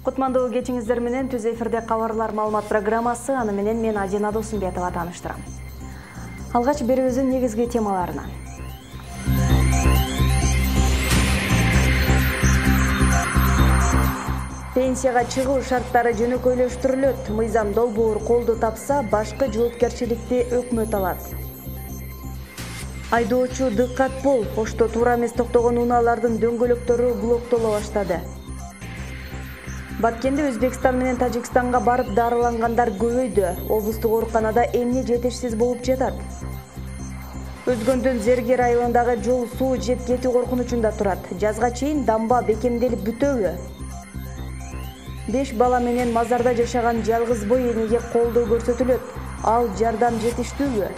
Кутмандуу кечиңиздер менен түз эфирде кабарлар маалымат программасы, аны менен мен Адина Досумбетова тааныштырам. Алгач берүүбүздүн негизги темаларына. Пенсияга чыгуу шарттары жөнөкөйлөштүрүлөт. Мыйзам долбоор колду тапса, башкы жоопкерчиликти өкмөт алат. Айдоочу дыккат бол, Ошто туура эмес токтогон унаалардын дөңгөлөктөрү блоктоло баштады. Баткенде Өзбекстан менен Тажикстанга барып дарылангандар көбөйдү. Облустук ооруканада эмне жетишсиз болуп жатат. Өзгөндүн Зергер айылындагы жол суу жеп кетүү коркунучунда турат. Жазга чейин дамба бекемделип бүтөбү? 5 бала менен мазарда жашаган жалгыз бой энеге колдоо көрсөтүлөт. Ал жардам жетиштүүбү?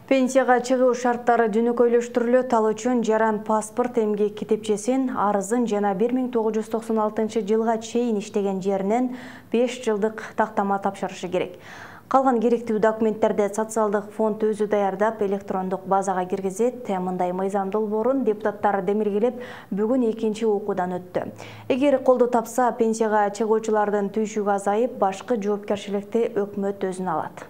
Пенсияга чыгуу шарттары жөнөкөйлөштүрүлөт. Ал үчүн жаран паспорт, эмгек китепчесин, арызын жана 1996 жылга чейин иштеген жеринен 5 жылдык тактама тапшырышы керек. Калган керектүү документтерди социалдык фонд өзү даярдап, электрондук базага киргизет. Мындай мыйзам долбоорун депутаттар демилгелеп, бүгүн экинчи окуудан өттү. Эгер колду тапса, пенсияга чыгуучулардын түйшүгү азайып, башкы жоопкерчиликти өкмөт өзүнө алат.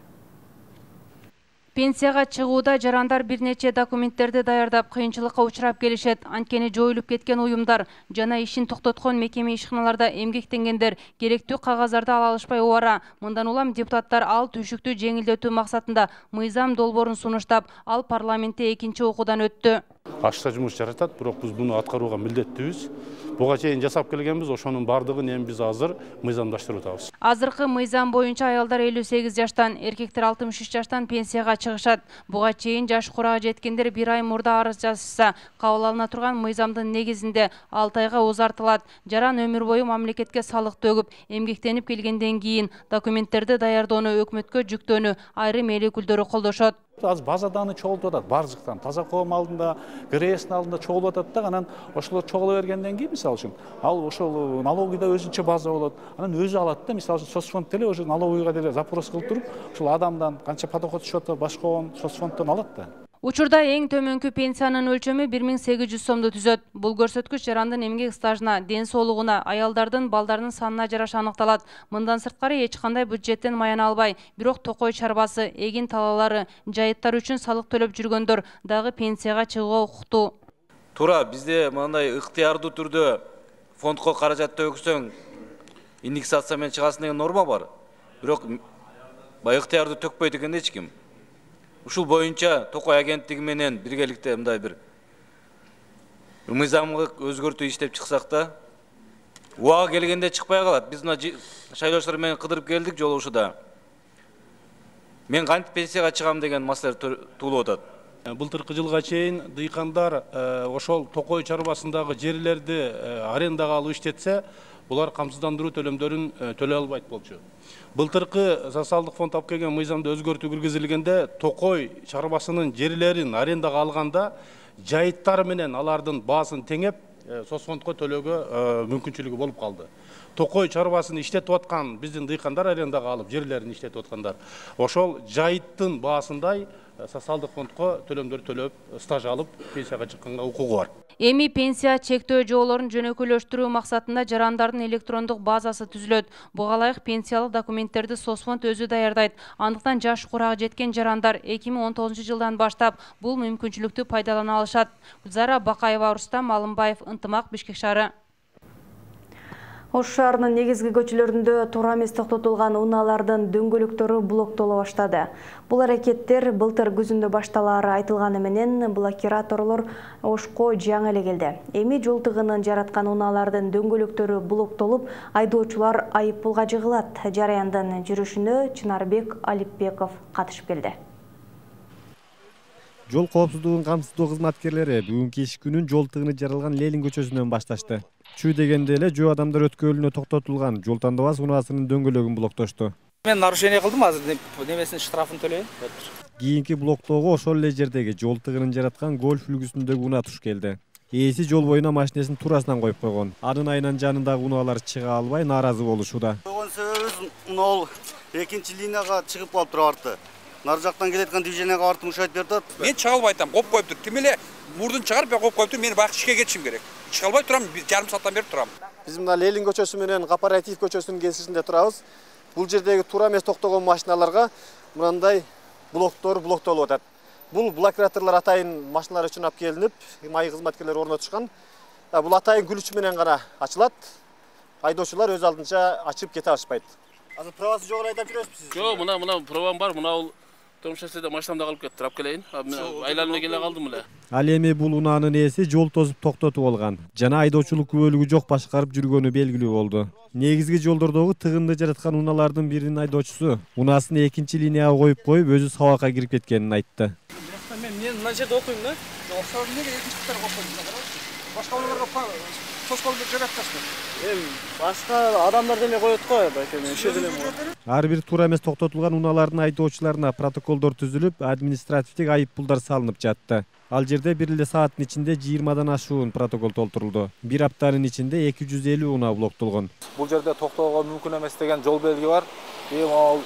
Пенсияга чыгууда жарандар бир нече документтерди даярдап, кыйынчылыкка учурап келишет. Анткени жоюлуп кеткен уюмдар жана ишин токтоткон мекеме ишканаларда эмгектенгендер керектүү кагаздарды ала алышпай убара. Мындан улам депутаттар ал түйшүктү жеңилдетүү максатында мыйзам долбоорун сунуштап, ал парламентте экинчи окуудан өттү. Ашта жумуш жаратат, бирок биз буну аткарууга милдеттүүбүз. Буга чейин жасап келгенбиз, ошонун бардыгын эми биз азыр мыйзамдаштырып атабыз. Азыркы мыйзам боюнча аялдар 58 жаштан, эркектер 63 жаштан пенсияга чыгышат. Буга чейин жаш курага жеткендер 1 ай мурда арыз жазышса, кабыл алына турган мыйзамдын негизинде 6 айга узартылат. Жаран өмүр бою мамлекетке салык төгүп, эмгектенип келгенден кийин документтерди даярдоону өкмөткө жүктөөнү айрым эл өкүлдөрү колдошот. Азыр базаданы чогултуп атат, баржыктан, таза коом алдында, ГРС'нин алдында чогулуп атат да, анан ошолор чогула бергенден кийин, мисалы үчүн, ал ошол налогыйда өзүнчө база болот. Анан өзү алат да, мисалы үчүн, соцфонд деле ошо налогыйга деле запрос кылып туруп, ошол адамдан канча подоход түшүп, башка соцфонддон алат да. Учурда эң төмөнкү пенсиянын өлчөмү 1800 сомду түзөт. Бул көрсөткүч жарандын эмгек стажына, ден соолугуна, аялдардын, балдардын санына жараша аныкталат. Мындан сырткары эч кандай бюджеттен маяна албай, бирок токой чарбасы, эгин талаалары, жайыттар үчүн салык төлөп жүргөндөр дагы пенсияга чыгууга укуктуу. Туура, бизде мындай ыктыярдуу түрдө фондко каражат төгсөң, индексация менен чыгасың деген норма бар. Бирок баягы ыктыярдуу төкпөйт экен эч ким. Ушул боюнча Токой агенттиги менен биргеликте мындай бир мыйзамга өзгөртүү иштеп чыксак да, убага келгенде чыкпай калат. Биз мына шайлоочулар менен кыдырып келдик жолугушуда. Мен кантип пенсияга чыгам деген маселе туулуп атат. Былтыркы жылга чейин дыйкандар ошол Токой чарбасындагы жерлерди арендага алып иштетсе, булар камсыздандыруу төлөмдөрүн төлөй албайт болчу. Былтыркы социалдык фонд алып келген мыйзамда өзгөртүү киргизилгенде Токой чарбасынын жерлерин арендага алганда жайыттар менен алардын баасын теңеп соцфондко төлөөгө мүмкүнчүлүгү болуп калды. Токой чарбасын иштетип аткан биздин дыйкандар арендага алып жерлерин иштетип аткандар. Ошол жайыттын баасындай социалдык фондко төлөмдөр төлөп, стаж алып, пенсияга чыкканга укугу бар. Эми пенсия чектөө жоолорун жөнөкөйлөштүрүү максатында жарандардын электрондук базасы түзүлөт. Буга ылайык пенсиялык документтерди соцфонд өзү даярдайт. Андыктан жаш курага жеткен жарандар 2019 жылдан баштап бул мүмкүнчүлүктү пайдалана алышат. Гүлзара Бакаева, Рустам Алымбаев, Ынтымак, Бишкек шаары. Ош шаарынын негизги көчөлөрүндө туура эмес токтотулган унаалардын дөңгөлөктөрү блоктоло баштады. Бул аракеттер былтыр күзүндө башталаары айтылганы менен блокираторлор Ошко жаңы эле келди. Эми жол тыгынын жараткан унаалардын дөңгөлөктөрү блоктолуп, айдоочулар айыппулга жыгылат. Жараяндын жүрүшүнө Чынарбек Алипбеков катышып келди. Жол коопсуздугун камсыздоо кызматкерлери бүгүнкү иш күнүн жол тыгыны жаралган Ленин көчөсүнөн башташты. Чүй дегенде эле жөө адамдар өткөлүнө токтотулган жол тандабас унаасынын дөңгөлөгүн блоктошту. Мен нарушение кылдым, азыр немесин штрафын төлөйм. Кийинки блоктоого ошол эле жердеги жол тыгынын жараткан гольф үлгүсүндөгү унаа туш келди. Ээси жол боюна машинесин туурасынан коюп койгон. Анын айынан жанындагы унаалар чыга албай нааразы болушууда. Койгон себебибиз мына экинчи линияга чыгып калып туруп арты. Нар жактан келеткан движенияга артын ушайтып берип атат. Мен чыга албай атам, коп коюптур. Ким эле мурдун чыгарып, мен коп коюптур. Мен баягы ишке кетишим керек. Чыга албай турам, жарым сааттан бери турам. Биз мына Ленин көчөсү менен Кооператив көчөсүнүн кесишинде турабыз. Бул жердеги туура эмес токтогон машиналарга мындай блоктор блоктолуп атат. Бул блокираторлор атайын машиналар үчүн алып келинип, май кызматкерлери орнотушкан. Бул атайын күлүч менен гана ачылат. Айдоочулар өз алдынча ачып кете алышпайт. Азыр правасы жок эле айдап жүрөсүз? Жок, мына правам бар. Мына бул Томшасыда машинамда калып кетти, турап келейин. Айланып келе калдым эле. Ал эми бул унаанын ээси жол тозуп токтотуп алган жана айдоочулук күбөлүгү жок башкарып жүргөнү белгилүү болду. Негизги жолдордогу тыгынды жараткан унаалардын биринин айдоочусу унаасын экинчи линияга коюп өзү сабакка кирип кеткенин айтты. Мен мына жерде окуйм да. Окшор эмнеге экинчи кытарга окуйм? Башка унааларга тоскоолду жараткасызбы? Башка адамдар деле коет го, байке мен ошо деле. Ар бир туура эмес токтотулган унаалардын айдоочуларына протоколдор түзүлүп, административдик айып пулдар салынып жатты. Ал жерде бир эле сааттын ичинде 20дан ашуун протокол толтурулду. Бир аптанын ичинде 250 унаа блоктолгон. Бул жерде токтоого мүмкүн эмес деген жол белги бар. Ал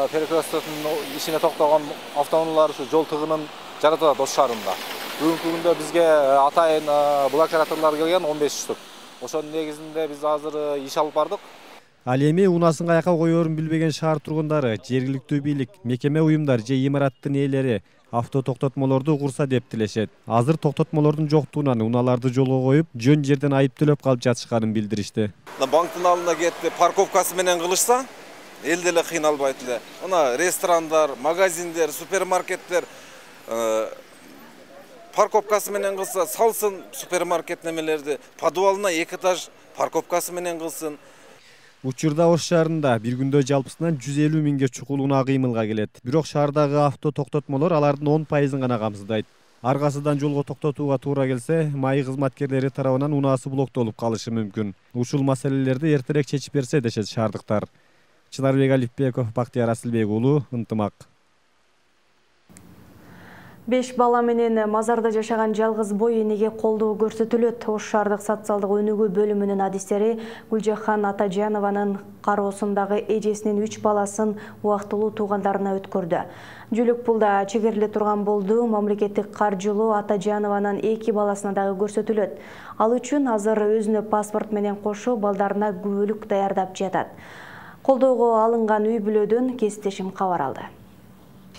перекрестконун ишине токтогон автоунаалар ушу жол тыгынын жаратат Ош шаарында. Бүгүнкү күндө бизге атайын блокираторлор келген 15 штук. Ошонун негизинде биз азыр иш алып бардык. Ал эми унаасын каяка коерун билбеген шаар тургундары, жергиликтүү бийлик, мекеме уюмдар же имараттын ээлери авто токтотмолорду курса деп тилешет. Азыр токтотмолордун жоктугунан унааларды жолго коюп, жөн жерден айып төлөп калып жатышканын билдиришти. Банктын алдына кетип парковкасы менен кылышса, эл деле кыйналбайт эле. Мына ресторандар, магазиндер, супермаркеттер парковкасы менен кылса, салсын супермаркет немелерди, подвалына 2 этаж парковкасы менен кылсын. Учурда Ош шаарында бир күндө жалпысынан 150 миңге чукул унаа кыймылга келет. Бирок шаардагы авто токтотмолор алардын 10% гана камсыздайт. Аргасыдан жолго токтотууга туура келсе, май кызматкерлери тарабынан унаасы блоктолуп калышы мүмкүн. Ушул маселелерди эртерээк чечип берсе дешет шаардыктар. Чынарбек Алипбеков, Бактияр Асылбек уулу, Ынтымак. 5 бала менен мазарда жашаган жалгыз бой энеге колдоо көрсөтүлөт. Ош шаардык социалдык өнүгүү бөлүмүнүн адистери Гүлжахан Атажанованын кароосундагы эжесинин 3 баласын убактылуу туугандарына өткөрдү. Жүлүк пулда чегериле турган болду. Мамлекеттик каржылоо Атажанованын 2 баласына дагы көрсөтүлөт. Ал үчүн азыр өзүнө паспорт менен кошо балдарына күбөлүк даярдап жатат. Колдоого алынган үй бүлөдөн кесиптешим кабар алды.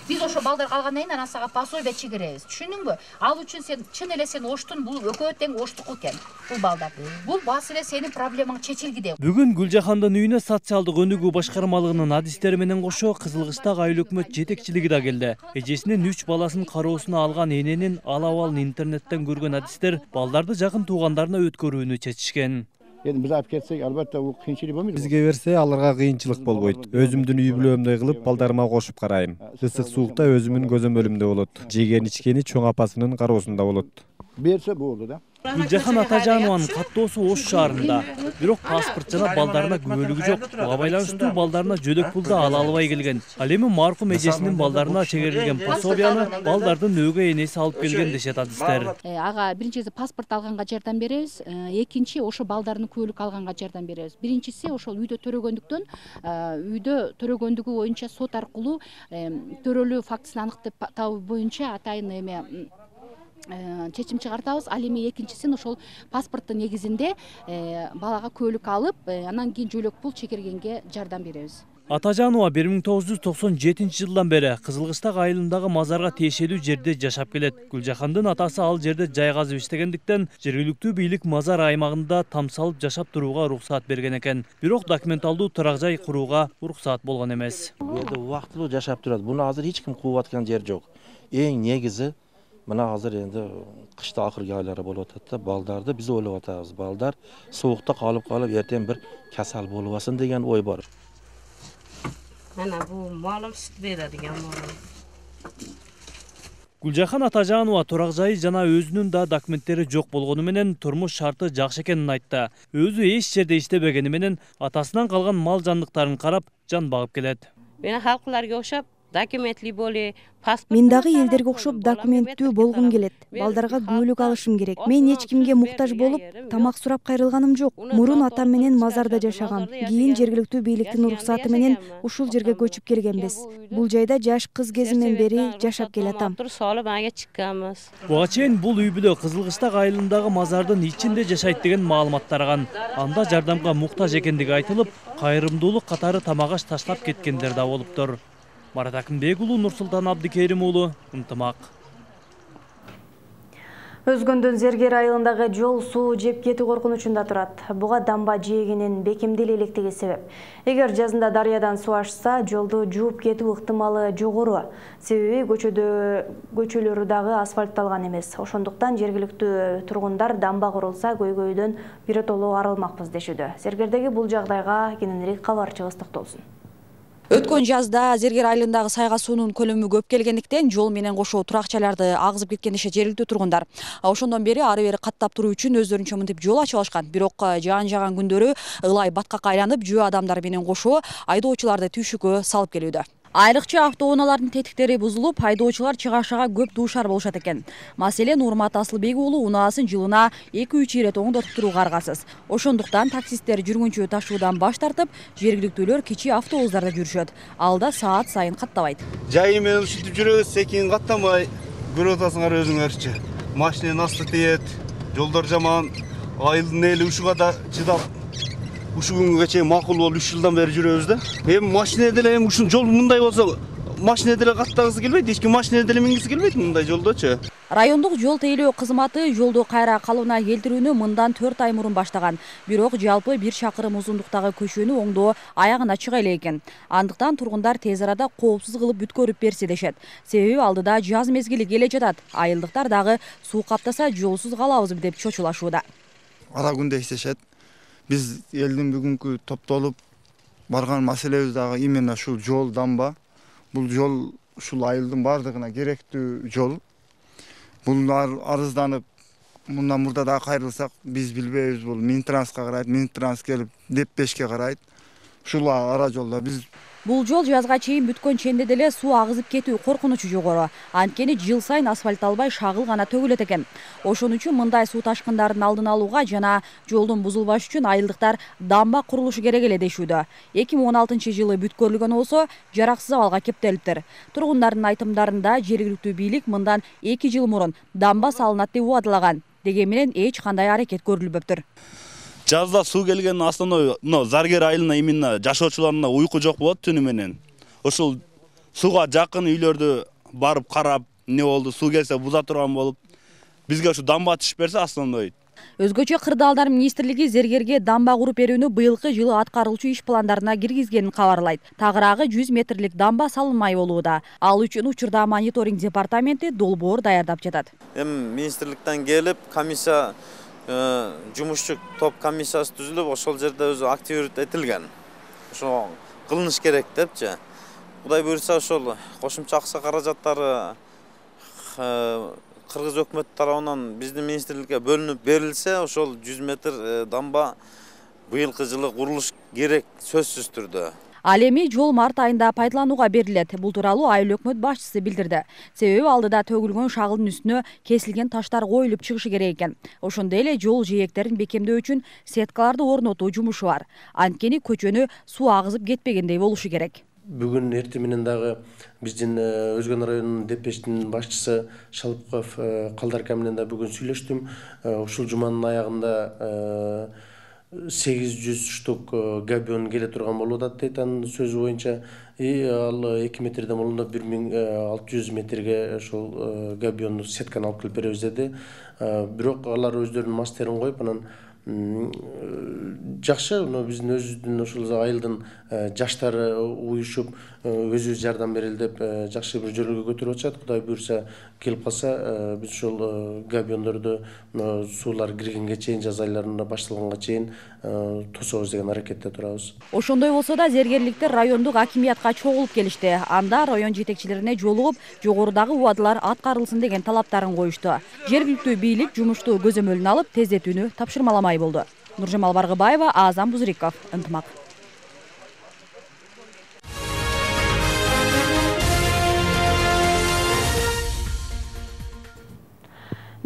Biz ошо балдар калгандан кийин анан сага пособие чегеребиз. Түшүндүңбү? Ал үчүн сен чын эле сен Оштун бул экөө тең Оштуку экен. Бул балдар. Бул бас эле сенин проблемаң чечилгиде. Бүгүн Гүлжахандын үйүнө социалдык өнүгүү башкармалыгынын адистери менен кошо Кызылкыштагы айыл өкмөт жетекчилиги да келди. Эжесинин 3 баласын кароосуна алган эненин ал абалын интернеттен көргөн адистер балдарды жакын туугандарына өткөрүүнү чечишкен. Biz alып кетсек, албетте бул кыйынчылык болбойт. Бизге берсе, аларга кыйынчылык болбойт. Өзүмдүн үй бүлөмдөй кылып балдарыма кошуп карайм. Ысык суукта өзүмүн көзөмөлүмдө болот. Жеген-ичкени чоң апасынын кароосунда болот. Берсе болду да. Гүлжахан Атажанованын каттоосу Ош шаарында. Бирок паспорт жана балдарына күбөлүгү жок. Буга байланыштуу балдарына жөлөк пул да ала албай келген. Ал эми маркум эжесинин балдарына чегерилген пособияны балдардын өгөй энеси алып келген дешет адистер. Ага биринчиси паспорт алганга жардам беребиз, экинчи ошо балдардын күбөлүк алганга жардам беребиз. Биринчиси ошол үйдө төрөгөндүктөн, үйдө төрөгөндүгү боюнча сот аркылуу төрөлүү фактысын аныктап табуу боюнча атайын эме чечим чыгартабыз. Ал эми экинчисин ошол паспорттун негизинде балага күбөлүк алып, анан кийин жөлөк пул чегергенге жардам беребиз. Атажанова 1997 жылдан бери Кызылкыштак айылындагы мазарга тиешелүү жерде жашап келет. Гүлжахандын атасы ал жерде жай казып иштегендиктен жергиликтүү бийлик мазар аймагында там салып жашап турууга уруксаат берген экен. Бирок документалдуу турак жай курууга уруксаат болгон эмес. Бу жерде убактылуу жашап турат. Буну азыр эч ким кууп аткан жер жок. Эң негизи мына азыр энди кышта акыркы айлары болуп атат да, балдарды биз ойлоп атабыз. Балдар соокто калып эртең бир касал болбасын деген ой бар. Ana bu malım süt beradigan malım. Гүлжахан Атажанова турак жайы жана өзүнүн да документтери жок болгону менен турмуш шарты жакшы экенин айтты. Өзү эч жерде иштебегени менен атасынан калган мал жандыктарын карап жан багып келет. Мен халкыларга окшоп документли боле, паспорт. Мен дагы элдерге окшоп документтүү болгум келет. Балдарга күбөлүк алышым керек. Мен эч кимге муктаж болуп, тамак сурап кайрылганым жок. Мурун атам менен мазарда жашагам. Кийин жергиликтүү бийликтин уруксаты менен ушул жерге көчүп келгенбиз. Бул жайда жаш кыз кезимден бери жашап келатам. Буга чейин бул үй бүлө Кызылкыштак айылындагы мазардын ичинде жашайт деген маалымат тараган. Анда жардамга муктаж экендиги айтылып, кайрымдуулук катары тамак аш таштап кеткендер да болуптур. Марат Акимбек уулу, Нурсултан Абдикерим уулу, Ынтымак. Өзгөндүн Зергер айылындагы жол суу жеп кетүү коркунучунда турат. Буга дамба жээгинин бекемдел электиги себеп. Эгер жазында дарыядан суу ашса, жолду жууп кетүү ыктымалы жогору. Себеби көчөлөрү дагы асфальтталган эмес. Ошондуктан жергиликтүү тургундар дамба курулса көйгөйдөн биротоло арылмакпыз дешүүдө. Зергердеги бул жагдайга кененирээк кабарчыбыз токтолсун. Өткөн жазда Зергер айылындагы сайга суунун көлөмү көп келгендиктен жол менен кошо туракчаларды агызып кеткен дешет жергиликтүү тургундар. Ошондон бери ары бери каттап туруу үчүн өздөрүнчө мынтип жол ачып алышкан. Бирок жаан жаган күндөрү ылай баткакка айланып, жөө адамдар менен кошо айдоочуларды түйшүккө салып келүүдө. Айрыкча автоунаалардын тетиктери бузулуп, айдоочулар чыгашага көп дуушар болушат экен. Маселен, Урмат Асылбек уулу унаасын жылына 2-3 ирет оңдотуп турууга аргасыз. Ошондуктан таксисттер жүргүнчү ташуудан баш тартып, жергиликтүүлөр кичи автобустарда жүрүшөт. Алда саат сайын каттабайт. Жайы менен ушинтип жүрөбүз, секин каттамай, көрүп атасыңар өзүңөрчү. Машинанын асты тиет, жолдор жаман, айылдын эли ушуга да чыдап ушу күнгө чейин макул болуп 3 жылдан бери жүрөбүз да. Эми машина деле эми ушул жол мындай болсо, машина деле каттагысы келбейт, эч ким машина деле мингиси келбейт мындай жолдочу. Райондук жол тейлөө кызматы жолду кайра калыбына келтирүүнү мындан 4 ай мурун баштаган. Бирок жалпы 1 чакырым узундуктагы көчөнү оңдоо аягына чыга элек экен. Андыктан тургундар тез арада коопсуз кылып бүткөрүп берсе дешет. Себеби алдыда жаз мезгили келе жатат. Айылдыктар дагы суу каптаса жолсуз калабызбы деп чочулашууда. Ара күндө иштешет. Биз элдин бүгүнкү топтолуп барган маселебиз дагы именно ушул жол дамба. Бул жол ушул айылдын бардыгына керектүү жол. Булар арызданып, мындан мурда дагы кайрылсак, биз билбейбиз, бул Минтранска карайт, Минтранс келип Деппешке карайт. Ушул ара жолдо биз Бул жол жазга чейин бүткөн ченде деле суу агызып кетүү коркунучу жогору. Анткени жыл сайын асфальтталбай шагыл гана төгүлөт экен. Ошон үчүн мындай суу ташкындарын алдын алууга жана жолдун бузулбашы үчүн айылдыктар дамба курулушу керек эле дешүүдө. 2016-жылы бүткөрүлгөн болсо, жараксыз абалга кептелиптир. Тургундардын айтымдарында жергиликтүү бийлик мындан 2 жыл мурун дамба салынат деп убадылаган. Дегени менен эч кандай аракет көрүлбөптүр. Жазда суу келген основной Заргер айылына именно жашоочуларына уйку жок болот түнү менен. Ошол сууга жакын үйлөрдү барып карап, не болду, суу келсе буза турган болуп, бизге ушу дамба түшүп берсе основной. Өзгөчө Кырдаалдар министрлиги Зергерге дамба куруп берүүнү быйылкы жылы аткарылчу иш пландарына киргизгенин кабарлайт. Тагыраагы 100 метрлик дамба салынмай болууда. Ал үчүн учурда мониторинг департаменти долбоор даярдап жатат. Министрликтен келип комиссия жумушчу топ комиссиясы түзүлүп, ошол жерде өзү активдүү этилген. Ошо кылыныш керек депчи. Кудай буйрса ошол кошумча акча каражаттары Кыргыз өкмөтү тарабынан биздин министрликке бөлүнүп берилсе, ошол 100 метр дамба быйылкы жылы курулуш керек сөзсүз түрдө. Ал эми жол март айында пайдаланууга берилет. Бул тууралуу айыл өкмөт башчысы билдирди. Себеби алдыда төгүлгөн шагылдын үстүнө кесилген таштар коюлуп чыгышы керек экен. Ошондой эле жол жээктерин бекемдөө үчүн сеткаларды орнотуу жумушу бар. Анткени көчөнү суу агызып кетпегендей болушу керек. Бүгүн эртең менен дагы биздин Өзгөн районунун Депештин башчысы Шалыпков Калдарка менен да бүгүн сүйлөштүм. Ушул жуманын аягында 800 штук габион келе турган болуп атат дейт анын сөзү боюнча. Ал 2 метрден болондо 1600 метрге ошол габионду сетканы алып келип беребиз деди. Бирок алар өздөрүнүн мастерин коюп, анан жакшы, биздин өзүбүздүн ошол айылдын жаштары уюшуп өзүбүз жардам берели деп жакшы бир жолго көтөрүп атышат. Кудай буйрса келип калса, биз ошол габиондорду суулар киргенге чейин, жаз айларында башталганга чейин тособуз деген аракетте турабыз. Ошондой болсо да зергерликтер райондук акимиятка чогулуп келишти. Анда район жетекчилерине жолугуп, жогорудагы убадылар аткарылсын деген талаптарын коюшту. Жергиликтүү бийлик жумушту көзөмөлүнө алып, тездетүүнү тапшырмаламай болду. Нуржамал Баргыбаева, Азам Бузриков, Ынтымак.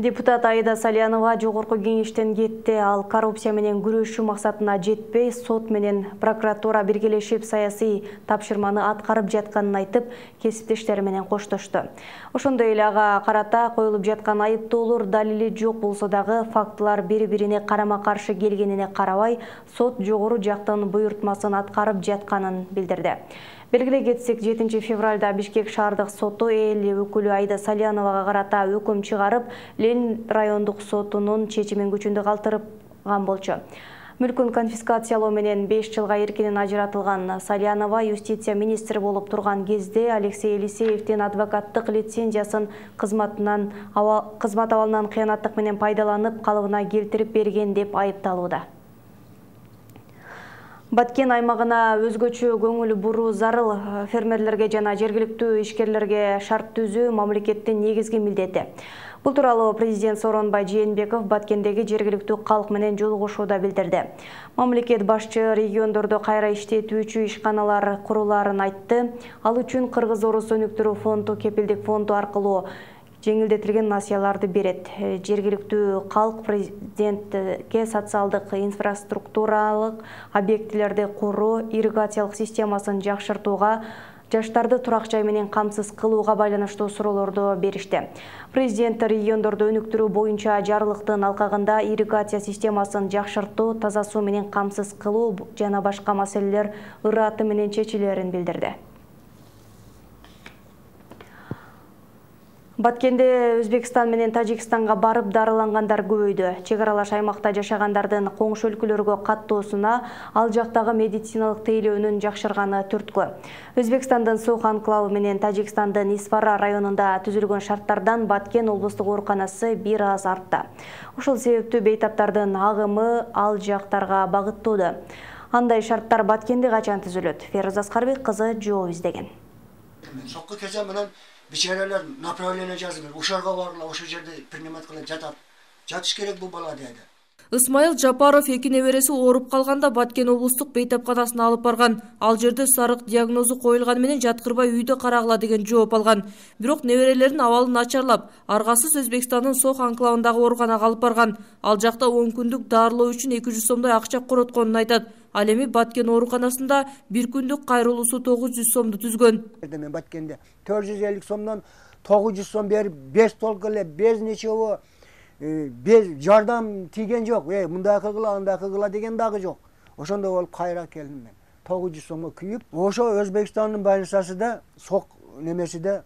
Депутат Аида Салянова жогорку кеңештен кетти. Ал коррупция менен күрөшүү максатына жетпей, сот менен прокуратура биргелешип саясий тапшырманы аткарып жатканын айтып, кесиптештери менен коштошту. Ошондой эле ага карата коюлуп жаткан айыптоолор далили жок болсо дагы фактылар бири-бирине карама-каршы келгенине карабай, сот жогору жактын буйртмасын аткарып жатканын билдирди. Белгилей кетсек, 7 февралда Бишкек шаардык соту эл өкүлү Аида Саляновага карата өкүм чыгарып, Ленин райондук сотунун чечимин күчүндө калтырган болчу. Мүлкүн конфискациялоо менен 5 жылга эркинен ажыратылган Салянова юстиция министри болуп турган кезде Алексей Елисеевдин адвокаттык лицензиясын кызмат абалынан кыянаттык менен пайдаланып, калыбына келтирип берген деп айыпталууда. Баткен аймагына өзгөчө көңүл буруу зарыл. Фермерлерге жана жергиликтүү ишкерлерге шарт түзүү мамлекеттин негизги милдети. Бул тууралуу президент Сооронбай Жээнбеков Баткендеги жергиликтүү калк менен жолугушууда билдирди. Мамлекет башчы региондордо кайра иштетүүчү ишканалар курулаарын айтты. Ал үчүн Кыргыз-Орус өнүктүрүү фонду кепилдик фонду аркылуу жеңилдетилген насыяларды берет. Жергиликтүү калк президентке социалдык инфраструктуралык объектилерди куруу, ирригациялык системасын жакшыртууга, жаштарды турак жай менен камсыз кылууга байланыштуу суроолорду беришти. Президент региондорду өнүктүрүү боюнча жарлыктын алкагында ирригация системасын жакшыртуу, таза суу менен камсыз кылуу жана башка маселелер ыраты менен чечилерин билдирди. Баткенде Өзбекстан менен Тажикстанга барып дарылангандар көбөйдү. Чек аралаш аймакта жашагандардын коңшу өлкөлөргө каттоосуна ал жактагы медициналык тейлөөнүн жакшырганы түрткү. Өзбекстандын Сох анклавы менен Тажикстандын Исфара районунда түзүлгөн шарттардан Баткен облустук ооруканасы бир аз артты. Ошол себептүү бейтаптардын агымы ал жактарга багыттоодо. Андай шарттар Баткенде качан түзүлөт? Ферuz Аскарбек кызы жооп издеген. Сокку кезе менен бичаралар направление жазып, ошорго баргыла, ошол жерде принимать кылып жатат. Жатыш керек бул бала деди. Исмаил Жапаров эки небереси ооруп калганда Баткен облустук бейтапканасына алып барган. Ал жерде сарык диагнозу коюлган менен жаткырбай үйдө карагыла деген жооп алган. Бирок неберелеринин абалы начарлап, аргасыз Өзбекстандын Сох анклавындагы ооруканага алып барган. Ал жакта 10 күндүк дарылоо үчүн 200 сомдой акча коротконун айтат. Ал эми Баткен ооруканасында бир күндүк кайрылуусу 900 сомду түзгөн. Мен Баткенде 450 сомдон 900 сом берип, 5 толк эле без ничего, без жардам тийген жок. Мындай кылгыла, андай кылгыла деген дагы жок. Ошондой болуп кайра келдим мен. 900 сомго күйүп, ошо Өзбекстандын больницасында Сок немесиде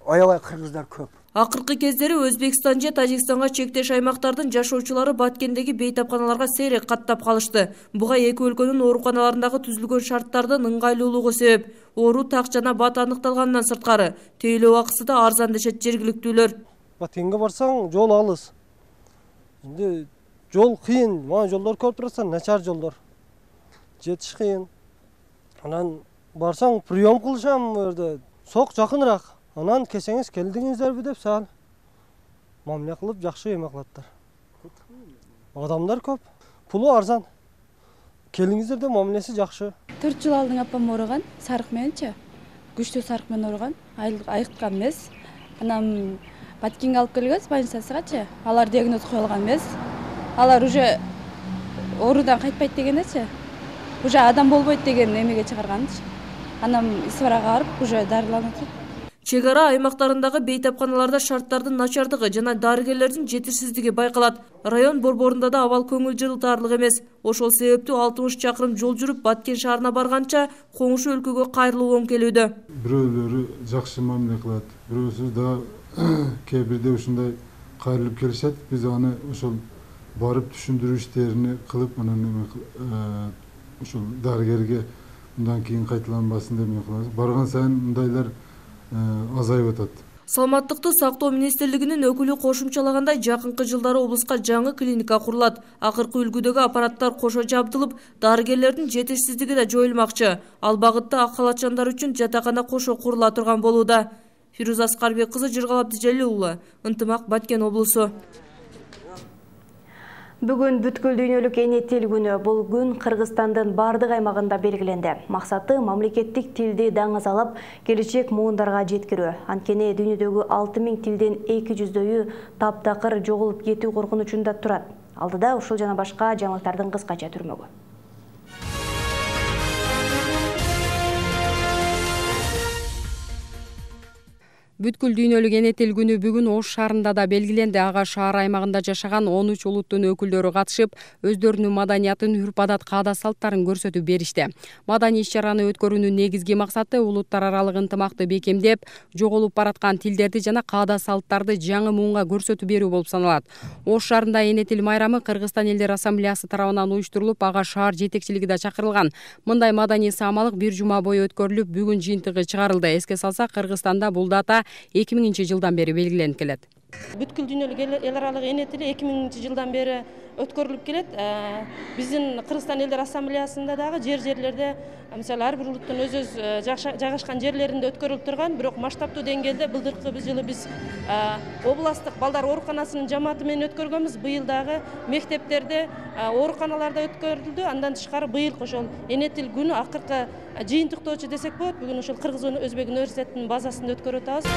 аябай кыргыздар көп. Акыркы кездери Өзбекстан же Тажикстанга чектеш аймактардын жашоочулары Баткендеги бейтапканаларга сейрек каттап калышты. Буга эки өлкөнүн ооруканаларындагы түзүлгөн шарттардын ыңгайлуулугу себеп. Оору так жана бат аныкталгандан сырткары тейлөө акысы да арзан дешет жергиликтүүлөр. Баткенге барсаң, жол алыс. Эми жол кыйын, мана жолдор көп турса, начар жолдор. Жетиш кыйын. Анан барсаң, прием кылышам жерде. Сок жакыныраак. Анан кесеңиз келдиңиздерби деп саал мамиле кылып жакшы эме кылаттар. Адамдар көп, пулу арзан. Келиңиздер деп мамилеси жакшы. 4 жыл алдың апам ооруган, сарык мененчи. Күчтүү сарык менен ооруган, айыккан эмес. Анан Баткенге алып келгенбиз больницасыгачы. Алар диагноз коюлган эмес. Алар уже оорудан кайтпайт дегенечи. Уже адам болбойт деген эмеге чыгарганчы. Анан Исфарага барып, уже дарыланып атат. Чек ара аймактарындагы бейтапканаларда шарттардын начардыгы жана дарыгерлердин жетишсиздиги байкалат. Район борборунда да абал көңүл жылтаарлык эмес. Ошол себептүү 60 чакырым жол жүрүп Баткен шаарына барганча коңшу өлкөгө кайрылуу оң келүүдө. Бирөөлөрү жакшы мамиле кылат, бирөөсү да кээ бирде ушундай кайрылып келишет. Биз аны ошол барып түшүндүрүү иштерин кылып, анан ошол дарыгерге мындан кийин кайталанбасын деп эме кылабыз. Барган сайын мындайлар азайып атат. Саламаттыкты сактоо министрлигинин өкүлү кошумчалагандай, жакынкы жылдары облуска жаңы клиника курулат. Акыркы үлгүдөгү аппараттар кошо жабдылып, дарыгерлердин жетишсиздиги да жоюлмакчы. Ал багытта ак халатчандар үчүн жатакана кошо курула турган болууда. Ферuz Аскарбек кызы, Жыргал Абдижалил уулу, Ынтымак, Баткен облусу. Бүгүн бүткүл дүйнөлүк эне тил күнү. Бул күн Кыргызстандын бардык аймагында белгиленди. Максаты мамлекеттик тилди даңазалап, келечек муундарга жеткирүү. Анткени дүйнөдөгү 6000 тилден 200дөйү таптакыр жоголуп кетүү коркунучунда турат. Алдыда ушул жана башка жаңылыктардын кыскача түрмөгү. Бүткүл дүйнөлүк эне тил күнү бүгүн Ош шаарында да белгиленди. Ага шаар аймагында жашаган 13 улуттун өкүлдөрү катышып, өздөрүнүн маданиятын, үрп-адат, каада-салттарын көрсөтүп беришти. Маданий иш-чараны өткөрүүнүн негизги максаты улуттар аралык ынтымакты бекемдеп, жоголуп бараткан тилдерди жана каада-салттарды жаңы муунга көрсөтүп берүү болуп саналат. Ош шаарында эне тил майрамы Кыргызстан элдер ассамблеясы тарабынан уюштурулуп, ага шаар жетекчилиги да чакырылган. Мындай маданий саамалык бир жума бою өткөрүлүп, бүгүн жыйынтыгы чыгарылды. Эске салсак, Кыргызстанда бул дата 2000-жылдан бери белгиленип келет. Бүткүл дүйнөлүк эл аралык эне тили 2000-жылдан бери өткөрүлүп келет. Биздин Кыргызстан элдер ассамблеясында дагы жерлерде, мисалы ар бир улуттун өз жайгашкан жерлеринде өткөрүлүп турган, бирок масштабтуу деңгээлде былтыркы жылы биз областтык балдар ооруканасынын жамааты менен өткөргөнбүз. Быйыл дагы мектептерде, ооруканаларда өткөрүлдү. Андан тышкары быйыл ошол эне тил күнү акыркы жыйынтыктоочу десек болот. Бүгүн ошол Кыргыз Өзбек университетинин базасында өткөрүп атабыз.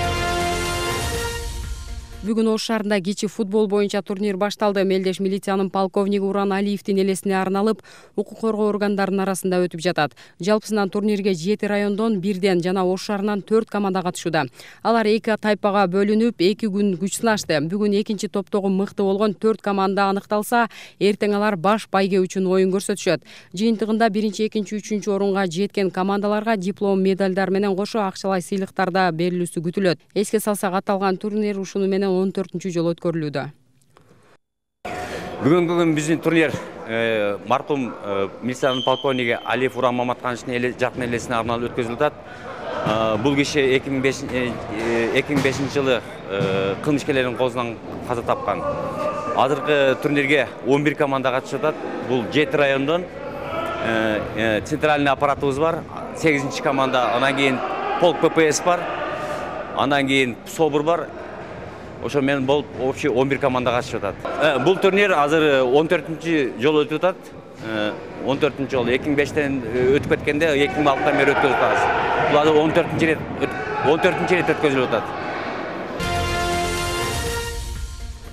Бүгүн Ош шаарында кичи футбол боюнча турнир башталды. Мелдеш милициянын полковниги Уран Алиевдин элесине арналып, укук коргоо органдарынын арасында өтүп жатат. Жалпысынан турнирге 7 райондон 1ден жана Ош шаарынан 4 команда катышууда. Алар 2 тайпага бөлүнүп, 2 күн күч сынашты. Бүгүн экинчи топтогу мыкты болгон 4 команда аныкталса, эртең алар баш байге үчүн оюн көрсөтүшөт. Жыйынтыгында 1-2, 3 орунга жеткен командаларга диплом, медалдар менен кошо акчалай сыйлыктар да берилүүсү күтүлөт. Эске салсак, аталган турнир ушуну менен 14-чү жолу өткөрүлүүдө. Бүгүнкү биздин турнир маркум милициянын полковниги Алиев Уран Маматкановичтин жакын элесине арналып өткөзүлүп атат. Бул киши 2005 жылы кылмышкерлердин колунан каза тапкан. Азыркы турнирге 11 команда катышып атат. Бул 7 райондон центральный аппаратыбыз бар, 8-чи команда, андан кийин полк ППС бар, андан кийин СОБУР бар. Ошо менен болуп общий 11 команда катышып атат. Бул турнир азыр 14-чү жолу өтүп атат. 14-чү жолу 2005-тен өтүп кеткенде 2006-тан бери өткөзүп атабыз. Бул азыр 14-чү рет өткөзүлүп атат.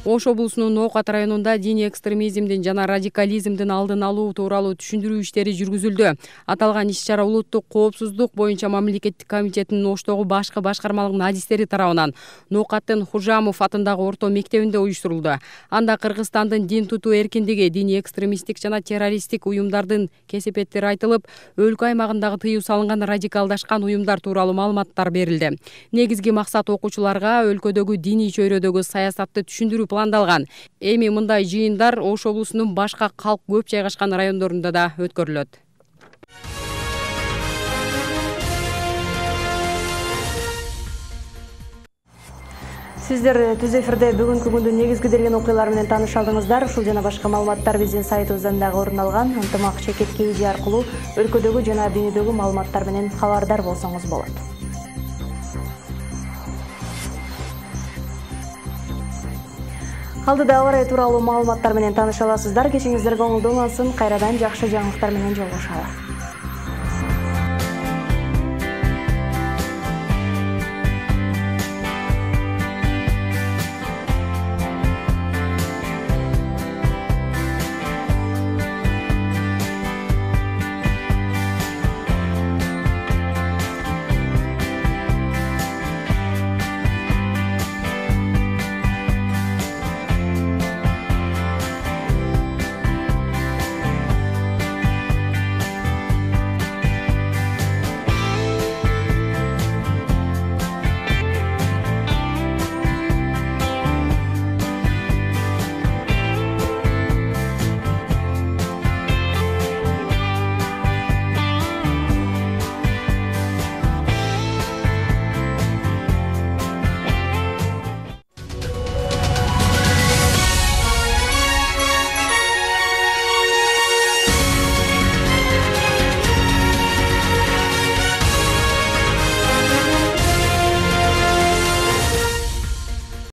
Ош облусунун Ноокат районунда диний экстремизмдин жана радикализмдин алдын алуу тууралуу түшүндүрүү иштери жүргүзүлдү. Аталган иш-чара улуттук коопсуздук боюнча мамлекеттик комитетинин Оштогу башкы башкармалык адистери тарабынан Ноокаттын Хужамов атындагы орто мектебинде уюштурулду. Анда Кыргызстандын дин тутуу эркиндиги, диний экстремисттик жана террористтик уюмдардын кесепеттери айтылып, өлкө аймагындагы тыюу салынган радикалдашкан уюмдар тууралуу маалыматтар берилди. Негизги максат окуучуларга өлкөдөгү диний чөйрөдөгү саясатты түшүндүрүү пландалган. Эми мындай жыйындар Ош облусунун башка калк көп жайгашкан райондорунда да өткөрүлөт. Сиздер түз эфирде бүгүнкү күндүн негизги делген окуялары менен тааныша алдыңыздар. Ушул жана башка маалыматтар биздин сайтыбыздан дагы орун алган. Ынтымак чекит KG аркылуу өлкөдөгү жана дүйнөдөгү маалыматтар менен кабардар болсоңуз болот. Алдыда аба ырайы тууралуу маалыматтар менен тааныша аласыздар. Кечиңиздер көңүлдүү улансын. Кайрадан жакшы жаңылыктар менен жолугушалы.